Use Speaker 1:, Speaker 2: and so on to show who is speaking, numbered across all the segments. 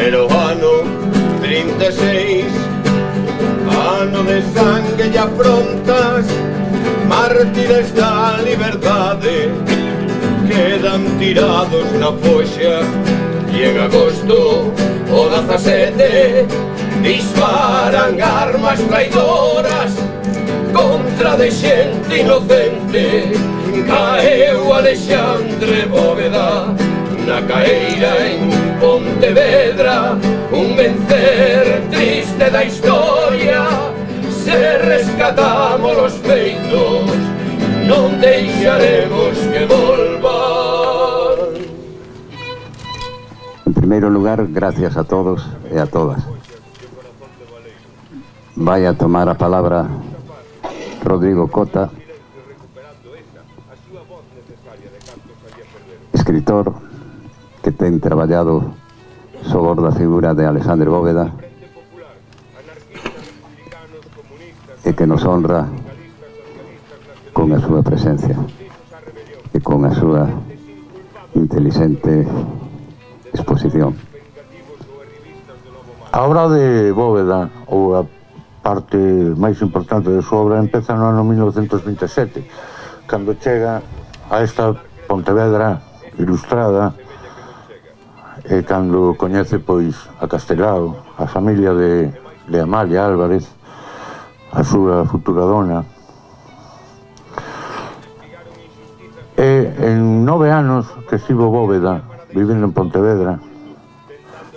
Speaker 1: Era o ano 36, ano de sangue e afrontas, mártires da liberdade quedan tirados na foxa. E en agosto o 17 disparan armas traidoras contra de xente inocente. Caeu Alexandre Bóveda na caeira en Pontevedra, un vencer triste da historia. Se rescatamos os feitos, non deixaremos que volvan.
Speaker 2: En primeiro lugar, gracias a todos e a todas. Vai a tomar a palabra Rodrigo Cota, escritor que ten traballado sobre a figura de Alexandre Bóveda e que nos honra con a súa presencia e con a súa inteligente exposición.
Speaker 3: A obra de Bóveda, ou a parte máis importante de súa obra, empeza no ano 1927, cando chega a esta Pontevedra ilustrada e cando coñece pois a Castelao, a familia de Amalia Álvarez, a súa futura dona. E en 9 anos que estivo Bóveda vivindo en Pontevedra,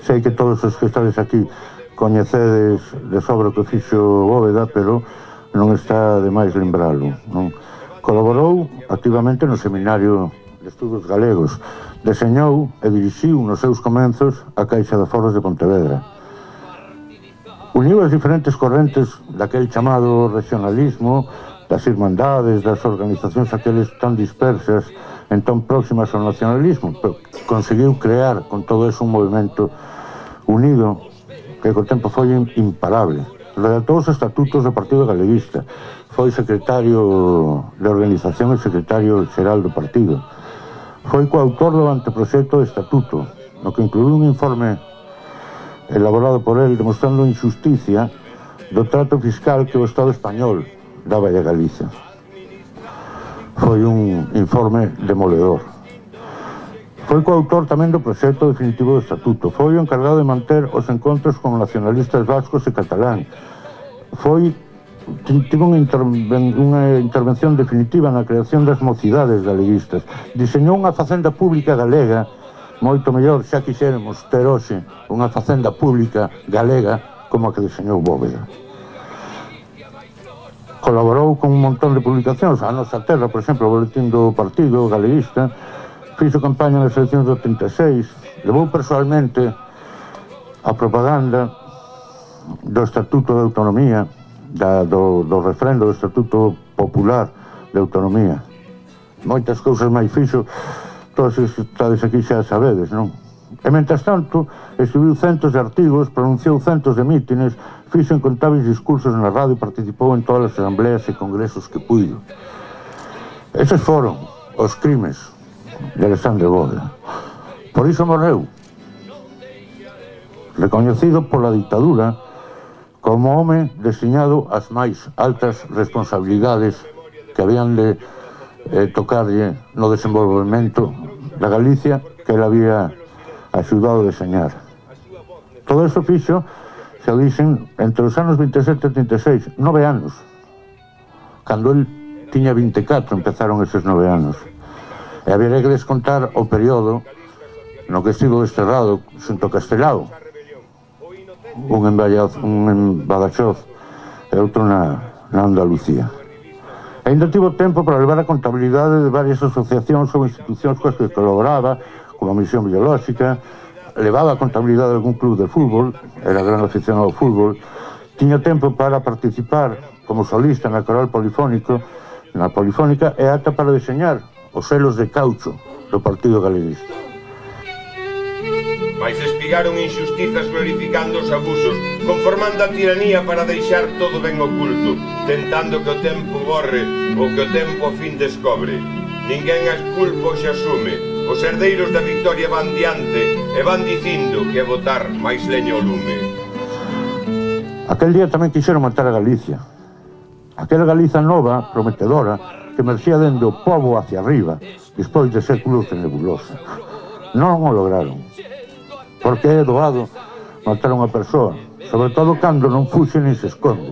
Speaker 3: sei que todos os que estades aquí coñecedes de sobra o que fixo Bóveda, pero non está de máis lembralo, non? Colaborou activamente no Seminario de Estudos Galegos, deseñou e dirixiu nos seus comenzos a Caixa de Aforros de Pontevedra. Uniu as diferentes correntes daquel chamado regionalismo, das irmandades, das organizacións aqueles tan dispersas, entón próximas ao nacionalismo, pero conseguiu crear con todo eso un movimento unido que co tempo foi imparable. Redactou os estatutos do Partido Galeguista, foi secretario de organización e secretario xeral do partido. Foi coautor do anteproxecto de estatuto, no que incluiu un informe elaborado por él demostrando a injusticia do trato fiscal que o Estado español daba a Galicia. Foi un informe demoledor. Foi coautor tamén do proxecto definitivo do estatuto. Foi o encargado de manter os encontros con nacionalistas vascos e catalán. Tivo unha intervención definitiva na creación das mocidades galeguistas. Diseñou unha facenda pública galega, moito mellor xa quixéramos ter hoxe unha facenda pública galega como a que diseñou Bóveda. Colaborou con un montón de publicacións, A Nosa Terra, por exemplo, o boletín do Partido Galeguista, fixo campaña nas eleccións do 86, levou personalmente a propaganda do Estatuto de Autonomía, do refrendo do Estatuto Popular de Autonomía. Moitas cousas máis fixo, todos os que estades aquí xa sabedes, non? E, mentras tanto, escribiu centos de artigos, pronunciou centos de mítines, fixo incontáveis discursos na radio e participou en todas as asambleas e congresos que puido. Eses foron os crimes de Alexandre Bóveda. Por iso morreu, recoñecido pola dictadura como home designado ás máis altas responsabilidades que habían de tocarlle no desenvolvemento da Galicia que ele había axudado a deseñar. Todo eso fixo, se dicen, entre os anos 27 e 36, 9 anos. Cando el tiña 24 empezaron eses 9 anos. E había que descontar o período no que estivo desterrado xunto a Castelao, un en Badaxoz e outro na Andalucía. E ainda tivo tempo para levar a contabilidade de varias asociacións ou institucións coas que colaboraba, como a Misión Biolóxica, levaba a contabilidade de algún club de fútbol, era gran aficionado ao fútbol, tiña tempo para participar como solista na coral polifónica e ata para diseñar os selos de caucho do Partido Galeguista.
Speaker 1: Mais espigaron injustizas glorificando os abusos, conformando a tiranía para deixar todo ben oculto, tentando que o tempo borre o que o tempo a fin descobre. Ninguén as culpa ou se asume, os herdeiros da victoria van diante e van dicindo que é botar máis leña ao lume.
Speaker 3: Aquel día tamén quixeron matar a Galicia. Aquela Galiza nova, prometedora, que emerxía dende o pobo hacia arriba, despois de séculos de nebulosa. Non o lograron. Porque é doado matar a unha persoa, sobre todo cando non fuxe nin se esconde.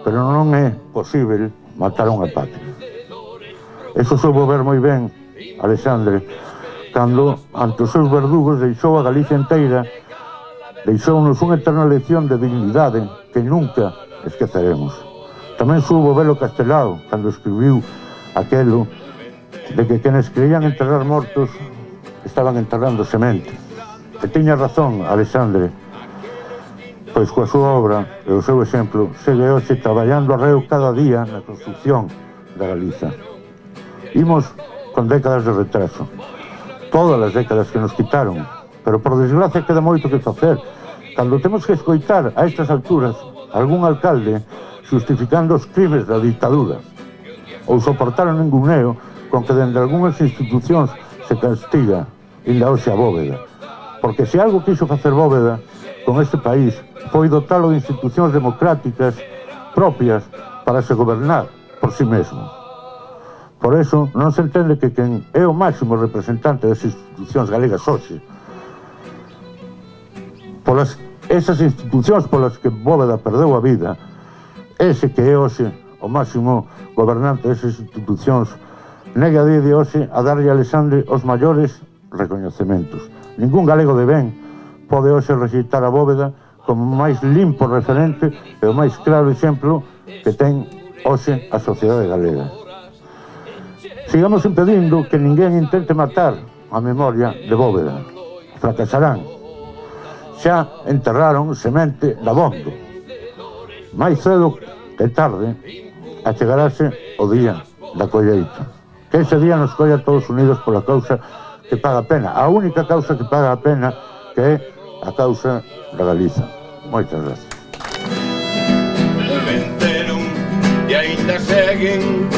Speaker 3: Pero non é posible matar a unha patria. Eso soubo ver moi ben Alexandre, cando, ante os seus verdugos, deixou a Galicia inteira, deixounos unha eterna lección de dignidade que nunca esqueceremos. Tamén soubo velo Castelao, cando escribiu aquelo de que quenes creían enterrar mortos estaban enterrando semente. E tiña razón, Alexandre, pois coa súa obra e o seu exemplo segue hoxe traballando arreo cada día na construcción da Galiza. Imos con décadas de retraso, todas as décadas que nos quitaron, pero por desgracia queda moito que facer. Cando temos que escoitar a estas alturas algún alcalde justificando os crimes da dictadura ou soportar o ninguneo con que dende algunhas institucións se castiga inda hoxe a Bóveda, porque se algo quiso facer Bóveda con este país foi dotalo de institucións democráticas propias para se gobernar por si mesmo. Por eso non se entende que quen é o máximo representante das institucións galegas hoxe, polas esas institucións polas que Bóveda perdeu a vida, ese que é hoxe o máximo gobernante desas institucións, negue a día de hoxe a darlle a Alexandre os maiores recoñecementos. Ningún galego de ben pode hoxe rexeitar a Bóveda como o máis limpo referente e o máis claro exemplo que ten hoxe a sociedade galega. Sigamos impedindo que ninguén intente matar a memoria de Bóveda. Fracasarán. Xa enterraron semente dabondo. Mais cedo que tarde achegarase o día da colleita. Que ese día nos colla todos unidos pola causa que paga a pena. A única causa que paga a pena, que é a causa da Galiza. Moitas gracias.
Speaker 1: Venceron e ainda seguen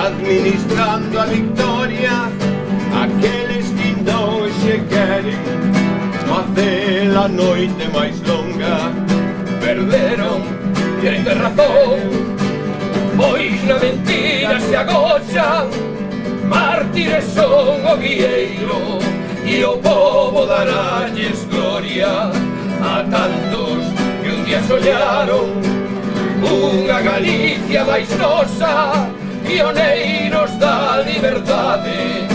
Speaker 1: administrando a victoria aqueles que non se queren facer a noite máis longa.
Speaker 4: Perderon e hai razón, pois na mentira se agochan. Mártires son o guieiro e o povo daralles gloria a tantos que un día soñaron unha Galicia máis nosa, pioneiros da liberdade.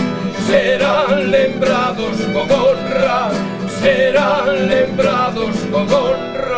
Speaker 4: Serán lembrados con honra, serán lembrados con honra.